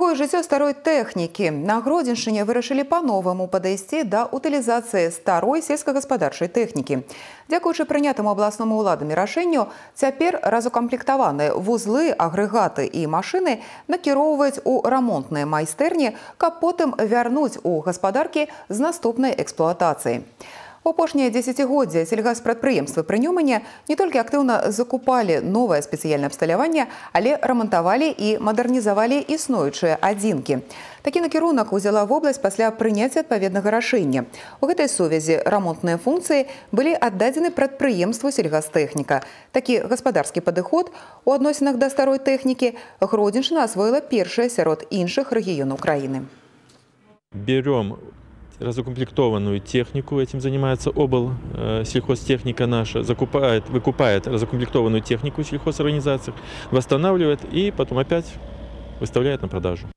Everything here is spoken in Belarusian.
Другое жыццё старой тэхнікі. На Гродзеншчыне вырашылі па-новаму падысці да утылізацыі старой сельскагаспадарчай тэхнікі. Дзякуючы прынятаму абласному ўладамі рашэнню, цяпер разукамплектаваныя вузлы, агрэгаты і машыны накіроўваюць у рамонтныя майстэрні, каб потым вярнуць у гаспадаркі з наступнай эксплуатацыяй. У апошнія дзесяцігоддзя сельгаспрадпрыемствы пры Нёмане не толькі актыўна закупалі новае спецыяльнае абсталяванне, але рамантавалі і мадэрнізавалі існуючыя адзінкі. Такі накірунак узяла вобласць пасля прыняцця адпаведнага рашэння. У гэтай сувязі рамонтныя функцыі былі аддадзены прадпрыемству сельгастэхніка. Такі гаспадарскі падыход у адносінах да старой тэхнікі Гродзеншчына асвоіла першая сярод іншых рэгіёнаў краіны. Берем разукомплектованную технику, этим занимается сельхозтехника наша, выкупает разукомплектованную технику в сельхозорганизациях, восстанавливает и потом опять выставляет на продажу.